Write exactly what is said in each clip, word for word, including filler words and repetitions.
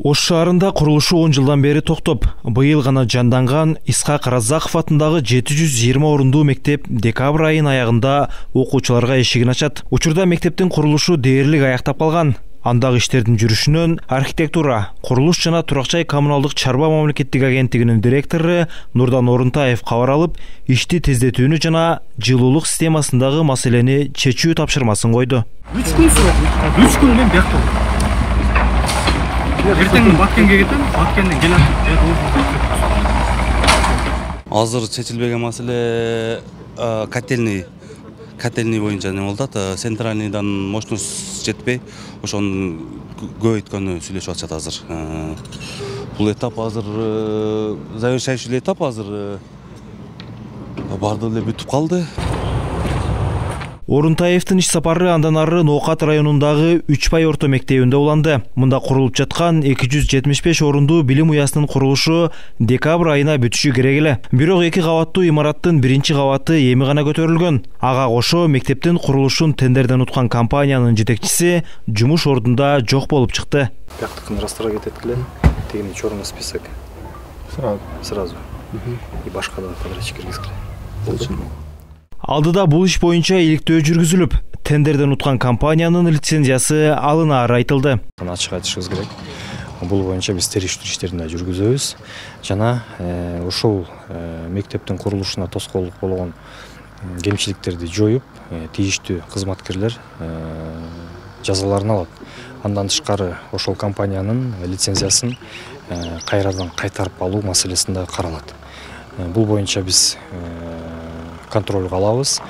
Ош шаарында курулушу он жылдан бери токтоп, быйыл гана жанданган Исхак Разаков атындагы жети жүз жыйырма орундуу мектеп декабрь айынын аягында окуучуларга эшигин ачат. Учурда мектептин курулушу дээрлик аяктап калган. Андагы иштердин жүрүшүнөн архитектура, курулуш жана турак-жай коммуналдык чарба мамлекеттик агенттигинин директору Нурдан Орунтаев кабар алып, ишти тездетүүнү жана жылуулук системасындагы маселени чечүү тапшырмасын койду. үч күн сурап, үч күн менен бияктап. Эртең Баткенге кетем, Баткенден келем. Азыр чечилбеген маселе котельный котельный боюнча не болуп атат. Центральныйдан мощность жетпей, ошону көбөйткөнү сүйлөшүп атышат азыр. Бул этап азыр завершающий этап азыр бардыгы эле бүтүп калды. Орунтаевдин иш сапары андан ары Ноокат районундагы үч бай орто мектебинде уланды. Мында курулуп жаткан эки жүз жетимиш беш орундуу билим уясынын курулушу декабрь айына бүтүшү керек эле. Бирок эки кабаттуу имараттын биринчи кабаты эми гана көтөрүлгөн. Ага кошо мектептин курулушун тендерден уткан компаниянын жетекчиси жумуш ордунда жок болуп чыкты. Бияктыкын растора кетет эле, тегини черный список. Сразу. Сразу. И башка да подрядчик киргизгиле. Болду. Алдыда бул иш боюнча иликтөө жүргүзүлүп, тендерден уткан компаниянын лицензиясы алынаары айтылды. Ачык айтышыбыз керек. Бул боюнча биз териштирүү иштерин да жүргүзөбүз. Жана ушул мектептин курулушуна тоскоолдук болгон кемчиликтерди жоюп, тийиштүү кызматкерлер жазаларын алат. Андан тышкары ошол компаниянын лицензиясын кайрадан кайтарып алуу маселеси да каралат. Бул боюнча биз контролго алабыз.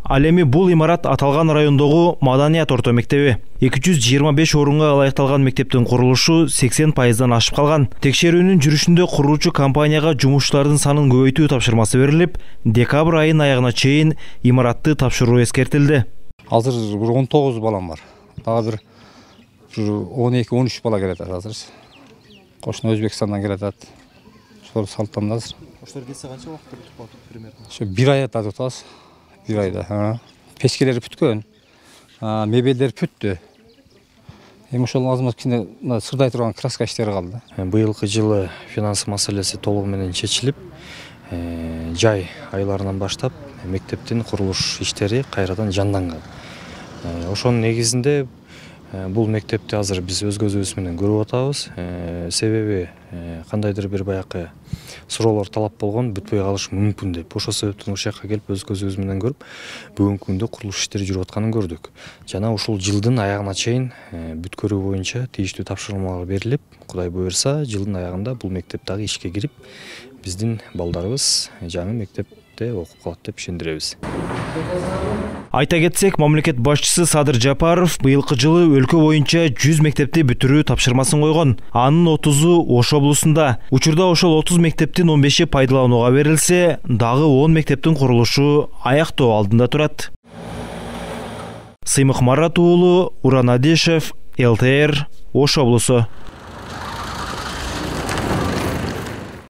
Ал эми бул имарат аталган райондогу Маданият орто мектеби. эки жүз жыйырма беш орунга ылайыкталган мектептин курулушу сексен пайыздан ашып калган. Текшерүүнүн жүрүшүндө куруучу компанияга жумушчулардын санын көбөйтүү тапшырмасы берилип, декабрь айынын аягына чейин имаратты тапшыруу эскертилди. Азыр бир он тогуз балам бар. Дагы бир он эки он үч бала келет азыр. Кошуна Өзбекстандан келет. Ошол салттан азыр. Ошолор келсе канча убакытта бүтүп калат примерно? Ошо бир айда tutабыз. Бир айда. Печкелери бүткөн. Мебелдер бүттү. Эми ошол азамат кичине сырдай турган краска иштери калды. Быйылкы жылы финанс маселеси толугу менен чечилип, жай айларынан баштап мектептин курулуш иштери кайрадан жанданган. Ошонун негизинде бул мектепти азыр биз өз көзүбүз менен көрүп атабыз. Себеби кандайдыр бир баякы суроолор талап болгон, бүтпөй калышы мүмкүн деп. Ошол себептен ушул жакка келип өз көзүбүз менен көрүп, бүгүнкү күндө курулуш иштери жүрүп атканын көрдүк. Жана ушул жылдын аягына чейин бүткөрүү боюнча тийиштүү тапшырмалар берилип, Кудай буйрса, жылдын аягында бул мектеп дагы ишке кирип, биздин балдарыбыз жаңы мектепте окуп калат деп ишендиребиз. Айта кетсек, мамлекет башчысы Садыр Жапаров быйылкы жылы өлкө боюнча жүз мектепти бүтүрүү тапшырмасын койгон. Анын отузу Ош облусунда. Учурда ошол отуз мектептин он беши пайдаланууга берилсе, дагы он мектептин курулушу аяктоо алдында турат. Сыймык Марат уулу, Уран Адишев, эл тэ эр, Ош облусу.